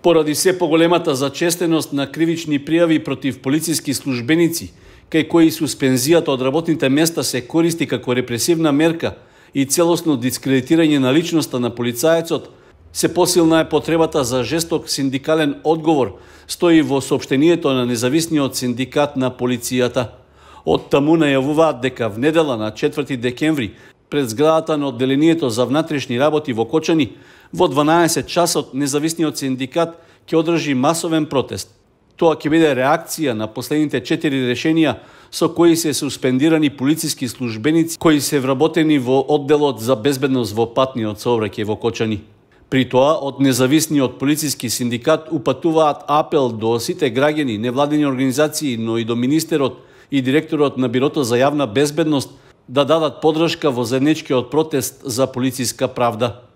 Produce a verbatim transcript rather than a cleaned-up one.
Поради се поголемата зачестеност на кривични пријави против полициски службеници, кај кои суспензијата од работните места се користи како репресивна мерка и целосно дискредитирање на личноста на полицаецот, се посилна е потребата за жесток синдикален одговор, стои во соопштението на независниот синдикат на полицијата. Од таму најавуваат дека в недела на четврти декември пред зградата на одделението за внатрешни работи во Кочани во дванаесет часот независниот синдикат ќе одржи масовен протест. Тоа ќе биде реакција на последните четири решенија со кои се суспендирани полициски службеници кои се вработени во одделот за безбедност во патниот сообраќај во Кочани. При тоа, од независниот полициски синдикат упатуваат апел до сите граѓани, невладени организации, но и до министерот и директорот на Бирото за јавна безбедност да дадат подршка во заедничкиот протест за полициска правда.